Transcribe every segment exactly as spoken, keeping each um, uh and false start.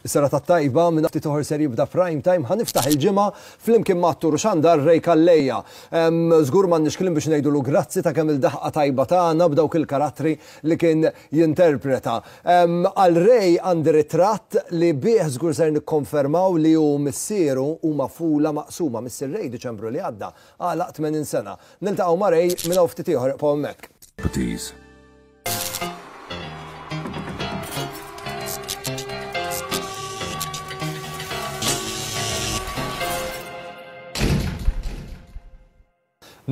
Is-serata tajba minn ftit oħra ser jibda prime time, ħa niftaħ il-ġimgħa flimkien ma' attur u xandar Ray Calleja. Żgur m'għandniex kliem biex ngħidulu grazzi ta' kemm il-daħqa tajba tagħna b'dawk il-karattri li kien jinterpreta. Għal Ray għandi ritratt li bih żgur ser nikkonfermaw li hu missieru huma fula maqsuma. Missier Ray Diċembru li għadda għalaq tmenin sena. Niltaqgħu ma' Ray minn hawn ftit ieħor, ibqgħu hemmhekk.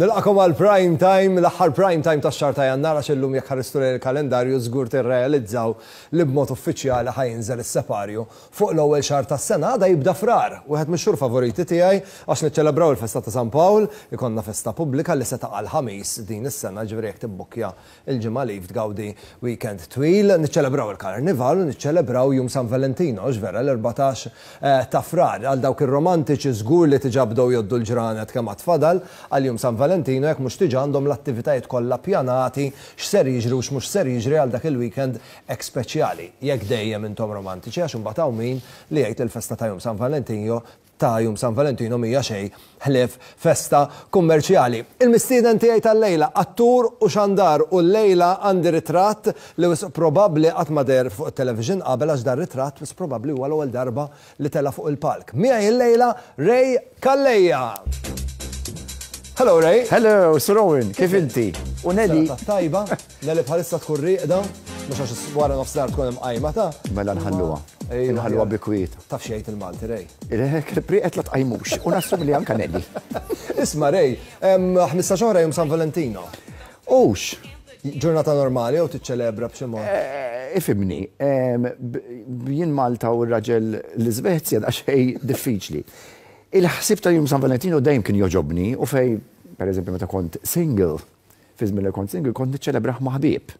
Nilqakom għal prime time, l-aħħar prime time tax-xahar ta' Jannar, għax illum jekk ħaristu lejn il-kalendarju żgur tirrealizzaw li b'mod uffiċjali ħa jinżel is-separju fuq l-ewwel xahar tas-sena. Għada jibda Frar, wieħed mix-xhur favoriti tiegħi għax niċċelebraw il-festa ta' San Pawl, ikollna festa pubblika li se taqa' l-Ħamis din is-sena, ġifieri jekk tibbukkja il-ġimgħa li tgawdi weekend twil, niċċelebraw il-Karnival u niċċelebraw Jum San Valentino, vera l-erbatax ta' Frar. Għal dawk ir-romantiċi żgur li diġà bdew joddu l-ġranet kemm għad fadal għal Jum San Valentino, jekk mhux diġà għandhom l-attivitajiet kollha pjanati x'ser jiġri u x'mhux ser jiġri għal dak il-weekend hekk speċjali. Jekk dejjem intom romantiċi, għax imbagħad hawn min li jgħid il-festa ta' Jum San Valentino ta' Jum San Valentino mhija xejn ħlief festa kummerċjali. Il-mistieden tiegħi tal-lejla, attur u xandar, u l-lejla għandi ritratt li wisq probabbli qatt ma deher fuq it-television qabel, għax dan ritratt wisq probabbli huwa l-ewwel darba li tela' fuq il-palk. Miegħi l-lejla Ray Calleja. Hello Ray. Hello, Sir Owen, kif inti? U Nelly. Tajba, Nelly bħalissa tkun rieqda, mhux għax wara nofsinhar tkun imqajma ta'. Mela nħalluha. Nħalluha bi kwiet. Taf xejn il-Malti, Ray. Priqet la tqajmux, u nassum li anka Nelly. Isma' Ray, ħmistax oħra Jum San Valentino. Ux. Ġurnata normali jew tiċċelebra b'xi mod? Ifimni, jien Malta u r-raġel l-Iżvezja daqsxejn diffiċli. Il-ħsieb ta' Jum San Valentino dejjem kien joġobni, u fej, per eżempju, meta kont single, fi żmien li kont single, kont niċċelebrah ma' ħbieb.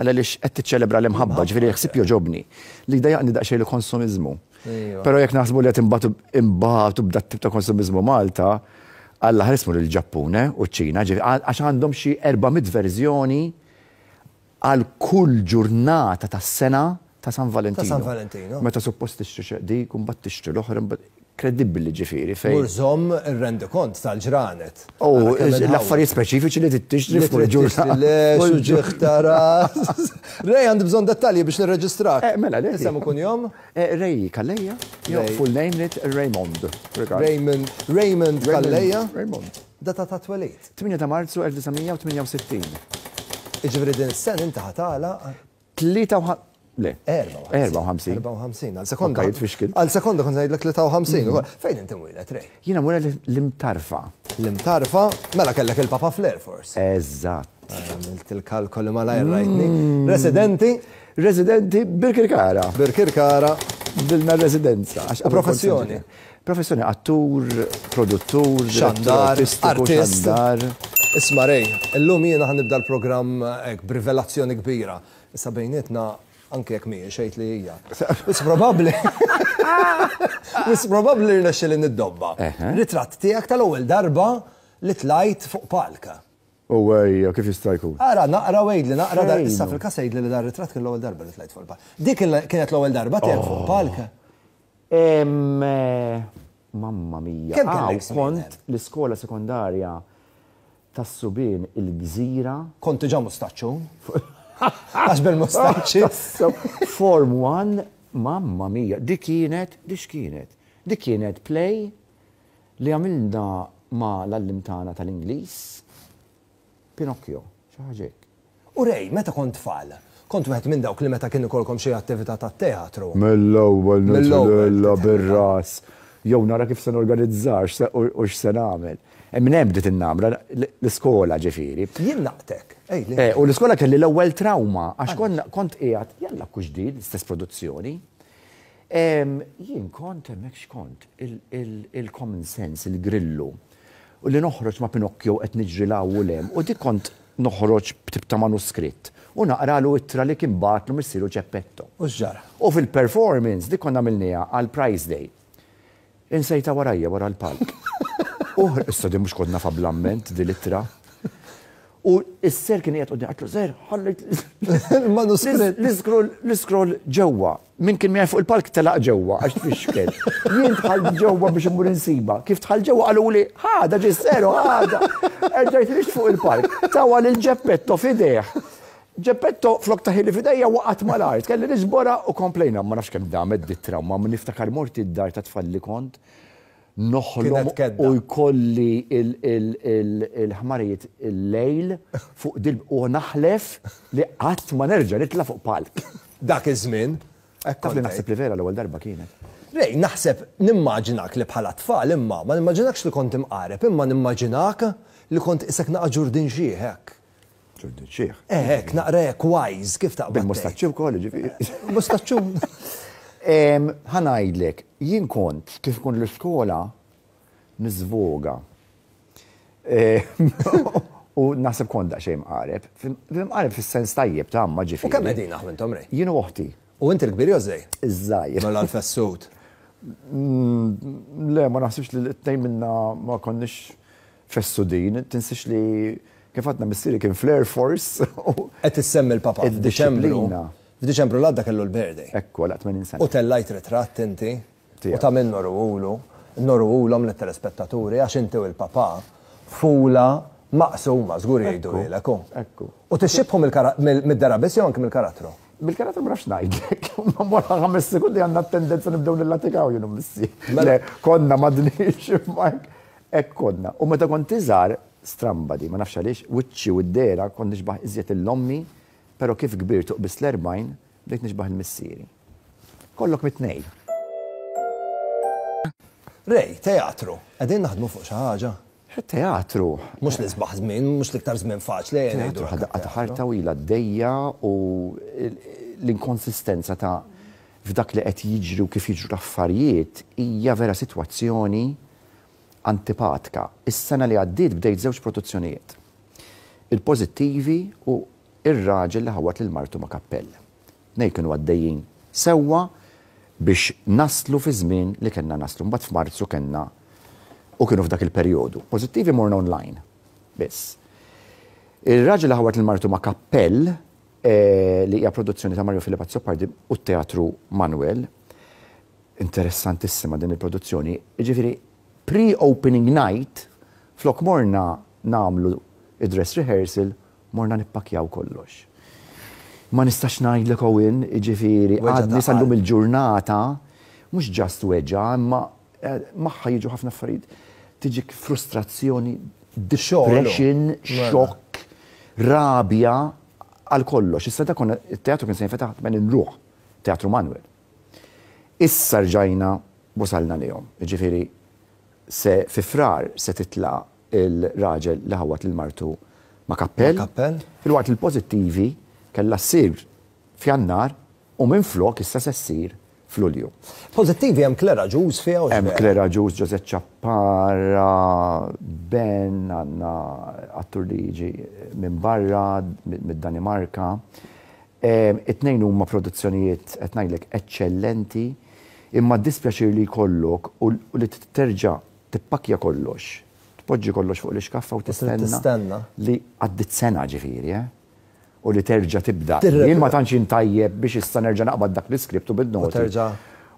Għala lix qed tiċċelebra l-imħabba, ġifieri l-ħsieb joġobni. Li dajaqni daqsxejn il-konsumiżmu. Però jekk naħsbu li qed imbagħtu imbagħtu b'dat tip ta' konsumiżmu Malta, Alla ħarismu lill-Ġappun u ċ-Ċina, għax għandhom xi erba' mitt verżjoni għal kull ġurnata tas-sena ta' San Valentino. Ta' San Valentino. Meta suppost tixtri dik, u mbagħad tixtri l-oħra, mbagħad kredibbli ġifieri fejn. Mur żomm ir-rendikont tal-ġranet. U l-affarijiet speċifiċi li tixtri fuq il-ġurnata. Le, xuġieħ ras. Ray, għandi bżonn dettalji biex nirreġistrak. Mela, le. Isem u kunjom? Ray Calleja. Full name lit Raymond. Raymond, Raymond Calleja. Raymond. Data ta' twelid. tmienja ta' Marzu elf disa' mija u tmienja u sittin. Iġifieri din is-sena inti ħatala. Tlieta u ħa-, le. Erba' u ħamsin. Erba' u ħamsin. Għal sekonda. Okej, tfixkil. Għal sekonda kont ngħidlek tlieta u ħamsin. Fejn inti mwieled, Ray? Jiena mwieled l-Imtarfa. L-Imtarfa? Mela kellek il-Papa fl-Air Force. Eżatt. Għamilt il-kalkoli malajr rajtni. Residenti? Residenti Birkirkara. Birkirkara. Dilna residenza. Għax U professjoni? Professjoni attur, produttur, Xandar, artistiku, artist. xandar. Isma' Ray, illum jiena ħanibda l-programm hekk b'rivelazzjoni kbira. Issa bejnietna anke jekk mhijiex xejn li hija. Wis probabbli. Wis probabbli rnexxieli niddobba. Eħe. Ritratt tiegħek tal-ewwel darba li tlajt fuq palka. U ejja, kif jista' jkun? Ara, naqra wejdli, naqra dar, Fejn issa hu? fil-każ għidli li dar ritratt kien l-ewwel darba li tlajt fuq il-palk. Dik kienet l-ewwel darba tiegħek fuq palka? Em, mamma mia. Kemm kellek Aw, żmien kont hemm? l-iskola sekondarja tas-subien il-Gżira. Kont diġà mustaċċu. Għax bil-mustaċċi. Form one, mamma mia, dik kienet, dik kienet. Dik kienet play li għamilna ma l-għallim tagħna tal-Ingliż, Pinocchio, xi ħaġa hekk. U Ray, meta kont tfal, kont wieħed minn dawk li meta kien ikolkom xi attività tat-teatru. Mill-ewwel Mill-ewwel. nitla bir-ras. Jew nara kif se norganizzax u x'se nagħmel. Minn hemm bdiet in-namra l-iskola ġifieri. Jien naqtek. Ej, li. Eh, u l-iskola kelli l-ewwel trauma għax konna, kont qiegħed jalla kux ġdid, l-istess produzzjoni. Em, jien kont hemmhekk x'kont il-common sense, il-grillu. U li noħroġ ma' Pinocchio qed niġri 'l hawn u 'l hemm, u dik kont noħroġ b'tip ta' manuskritt u naqralu ittra li kien bagħatlu missieru Ġeppetto. U x'ġara? U fil-performance dik konna għamilniha għal Prize Day. Insejta warajja wara l-palk. U issa di mhux kont nafha bl-amment di l-ittra. U s-sir kien qiegħed quddiem, għedtlu, "Sir, ħallejt Il-manuskritt. l-iscroll l-iscroll ġewwa." Min kien miegħi fuq il-palk telaq ġewwa għax tfixkel. Jien dħalt ġewwa biex immur insiba. Kif dħalt ġewwa qaluli, "Ħada ġie s-sir u ħadha." Erġajt ħriġt fuq il-palk. Tawha lil Geppetto f'idejh. Geppetto flok tahieli f'idejja waqgħet mal-art. Kelli niġborha u komplejna. Ma nafx kemm damet dit trauma, ma niftakar mort id-dar ta' tfal li kont noħlom Kienet kedda. u jkolli il-ħmarijiet il-lejl fuq dil u naħlef li qatt ma nerġa' nitla' fuq palk. Dak iż-żmien. Taf li naħseb li vera l-ewwel darba kienet. Ray, naħseb nimmaġinak li bħala tfal imma, ma nimmaġinakx li kont imqareb, imma nimmaġinak li kont isek naqa ġurdin xieħek. Ġurdin xieħ. Eh, naqra hekk wise, kif taqbad? Bil-mustaċċi wkoll, ġifieri. Mustaċċu. Ħa ngħidlek, jien kont kif kont l-iskola niżvoga. U naħseb kont daqsxejn mqareb. Mqareb fis-sens tajjeb ta' ma ġifieri. U kemm qegħdin intom, Ray? Jien u oħti. U inti l-kbir jew żgħir? Iż-żgħir. Mela l-fessut. Le, ma naħsibx li t-tnejn minna ma konniex fessudin. Tinsix li kif għadna missieri kien fl-Air Force. Qed issemmi l-papa f'Diċembru. Id-disciplina. F'Diċembru l-għadda kellu l-birthday. Ekku, għal tmenin sena. U tellajt ritratt inti. Tiegħek. U ta' minn noruhulu, noruhulhom lit-telespettaturi għax inti u l-papa fula maqsuma żgur jgħidu lilek. Ekku. U tixxibhom mid-dehra biss jew anke mill-karattru? Bil-karattru ma nafx ngħidlek. Ma wara ħames sekundi għandna tendenza nibdew nillatikaw jien u missi. Mela- Le, konna m'għadniex imma hekk konna. U meta kont iżgħar stramba di, ma nafx għaliex, wiċċi u d-dehra kont nixbaħ iżjed 'l ommi, però kif kbirt u qbiżt l-erbgħin, bdejt nixbaħ 'l missieri. Kollok mit-tnejn. Ray, teatru, qegħdin naħdmu fuq xi ħaġa. Teatru. Mhux l-isbaħ żmien, mhux l-iktar żmien faċli. ejja ngħidu Teatru hekk, ħadaqqa ta' teatru. ħarta u ila d-dejja u l-inkonsistenza ta' f'dak li qed jiġri u kif jiġru l-affarijiet hija vera sitwazzjoni antipatika. Is-sena li għaddiet bdejt żewġ produzzjonijiet. Il-pożittivi u ir-raġel li ħawat lil martu ma' kappell. Nej kienu għaddejjin sewwa biex naslu fi żmien li kellna naslu. Mbagħad f'Marzu kellna u kienu f'dak il-perjodu. Pożittivi morna online. Biss. Il-raġel li ħawat lil martu ma' kappell eh, li hija produzzjoni ta' Mario Philip Azzopardi u t-Teatru Manuel. Interessantissima din il-produzzjoni. Ġifieri, pre-opening night, flok morna nagħmlu id-dress rehearsal, morna nippakjaw kollox. Ma nistax ngħidlek Owen, ġifieri, Weġgħa ta' għadni sal-lum qalb. il-ġurnata, mhux just weġgħa, imma eh, magħha jiġu ħafna affarijiet. Tiġik frustrazzjoni, depression, Mela. xokk, rabja, għal kollox. Issa da konna, il-teatru kien se jinfetaħ tmenin ruħ, Teatru Manuel. Issa rġajna wasalna lihom. Ġifieri, se fi Frar se titla il-raġel li ħawat lil martu ma' kappell. Ma' kappell. Filwaqt il-pożittivi kellha ssir f'Jannar u minn flok issa se ssir f'Lulju. Pożittivi hemm Claire Agius fiha u Hemm x'vera? Claire Agius, Josette Ciappara, Ben, għandna attur li jiġi minn barra, mid-Danimarka. Em, It-tnejn huma produzzjonijiet qed ngħidlek eċċellenti, imma dispjaċir li jkollok u u li terġa' tippakja kollox, tpoġġi kollox fuq l-iskaffa u tistenna tistenna. li għaddit sena ġifieri, eh? U li terġa' tibda. Tirre- Jien ma tantx tajjeb biex issa nerġa' naqbad dak l-iskript u bil-noti. U terġa'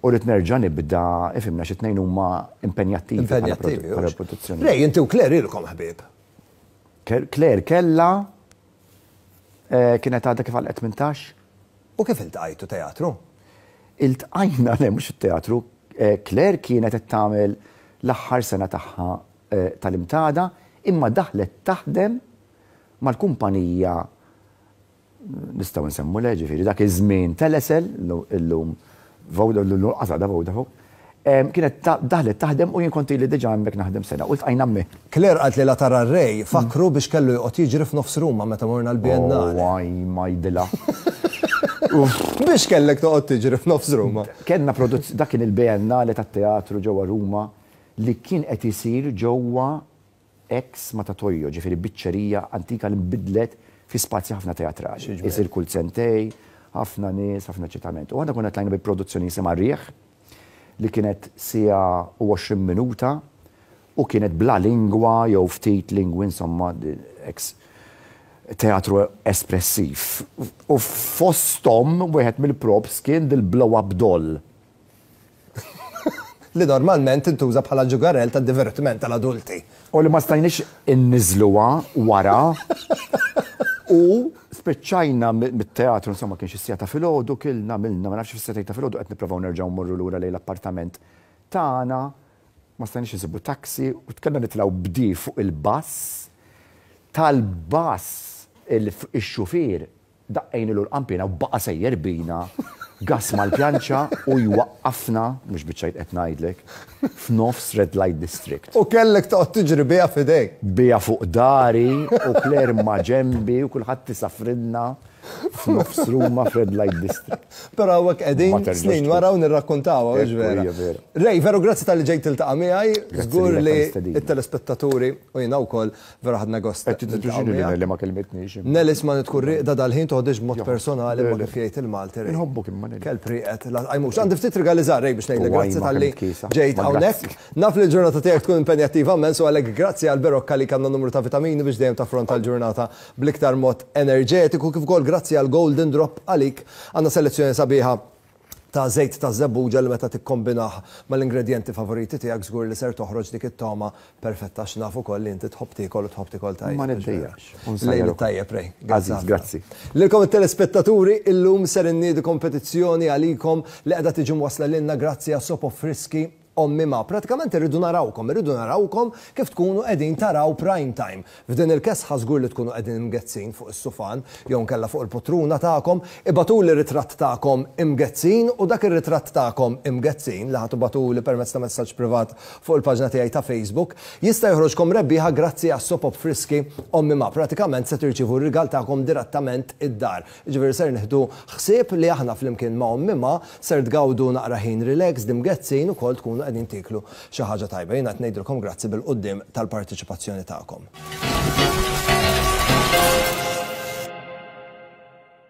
U rrid nerġa' nibda, ifhimna xi tnejn huma impenjattivi. bħala Impenjattivi. produ- bħala hux. produzzjoni. Ray, inti u Claire ilkom ħbieb. Ke- Claire kella eh, kienet għadha kif għal tmintax. U kif iltqajtu teatru? Iltqajna le mhux it-teatru, eh, Claire kienet qed tagħmel l-aħħar sena tagħha eh, tal-IMTADA, imma daħlet taħdem mal-kumpanija nistgħu nsemmu le ġifieri dak iż-żmien Telecel illum Voda illum qasada Vodafone. Em, Kienet ta- daħlet taħdem u jien kont ili diġà hemmhekk naħdem sena u ltqajna hemmhekk. Claire qalt li la tara Ray fakru biex kellu joqgħod jiġri f'nofs Ruma meta morna l-Biennale. Oh, għaj, ma jdilha. Biex kellek toqgħod tiġri f'nofs Ruma. Kellna produzz dak kien il-Biennale tat-teatru ġewwa Ruma li kien qed isir ġewwa ex Matatoio, ġifieri biċċerija antika li nbidlet fi spazji ħafna teatrali. Isir kull sentejn, ħafna nies, ħafna eċitament. U aħna konna tlajna bi produzzjoni jisimha Riħ li kienet siegħa u għoxrin minuta u kienet bla lingwa jew ftit lingwi insomma ex Teatru espressiv. U fosthom wieħed mill-props kien dil-blow-up doll. Li normalment intuża bħala ġugarell ta' divertiment tal-adulti. U li ma stajniex inniżluha wara. U spiċċajna mit-teatru, insomma, kien xi siegħa ta' filgħodu, kilna milna, ma nafx, fis-sagħtejn ta' filgħodu qed nipprovaw nerġgħu mmorru lura lejn l-appartament tagħna, ma stajniex insibu taxi u kellna nitilgħu bdi fuq il-bus. Tal-bus il-xufier daqqejnielu l-qanpiena u baqa' sejjer bina gas mal-pjanċa u jwaqqafna, mhux biċ-ċajt qed ngħidlek, f'nofs Red Light District. U kellek toqgħod tiġri biha f'idejk. Biha fuq dahri u Claire ma ġembi u kulħadd isafrinna f'nofs Ruma f'Red Light District. Però hawnhekk Ma qegħdin terġax snin tkun. wara u nirrakkontaw, Ekku, vera. hija vera. Ray, veru grazzi talli ġejt tiltaqa' miegħi, Grazzi żgur lilek li tal-istedina. it-telespettaturi u jiena wkoll vera ħadna gost. Qed tiddispjaċini li Nelly ma kelmitniex. Nelis ma tkun riqda dal-ħin, toħodix b'mod personali, ma Le, le. kif jgħid il-Malti. Ray. Inħobbok imma, Nelly. Kelb rieqed, la għajmux. Għandi ftit rigali żgħar, Ray, biex ngħidlek U grazzi għajma talli kemm tkisa. ġejt Ma hawnhekk. grazzi. Naf li l-ġurnata tiegħek tkun impenjattiva immens u għalhekk grazzi għal Berocca li kellna numru ta' vitamini biex dejjem taffronta l-ġurnata bl-iktar mod enerġetiku, kif ukoll grazzi għal Golden Drop, għalik għandna selezzjoni sabiħa ta' żejt ta' żebbuġa li meta tikkombinah mal-ingredienti favoriti tiegħek żgur li ser toħroġ dik it-toma perfetta, x'naf ukoll li inti tħobb tiekol u tħobb tiekol tajjeb. Ma niddejjax. Lejl tajjeb, Ray. Aziz, grazzi. Lilkom it-telespettaturi, illum ser inniedi kompetizzjoni għalikom li qiegħda tiġi mwasla lilna grazzi għas Sopo Friski Ommi Ma. Pratikament irridu narawkom, irridu narawkom kif tkunu qegħdin taraw Prime Time. F'din il-kesħa żgur li tkunu qegħdin imgezzin fuq is-sufan jew nkella fuq il-potruna tagħkom, ibagħtuli ritratt tagħkom imgezzin u dak ir-ritratt tagħkom imgezzin li ħa tibagħtuli permezz ta' messaġġ privat fuq il-paġna tiegħi ta' Facebook jista' joħroġkom rebbieħa grazzi għas Sopop Friski Ommi Ma. Pratikament se tirċivu r-rigal tagħkom direttament id-dar. Ġifieri ser nieħdu ħsieb li aħna flimkien ma' Ommi Ma ser tgawdu naqra ħin relax dimgezzin ukoll tkunu qegħdin tiklu xi ħaġa tajba. Jiena qed ngħidilkom grazzi bil-quddiem tal-partiċipazzjoni tagħkom.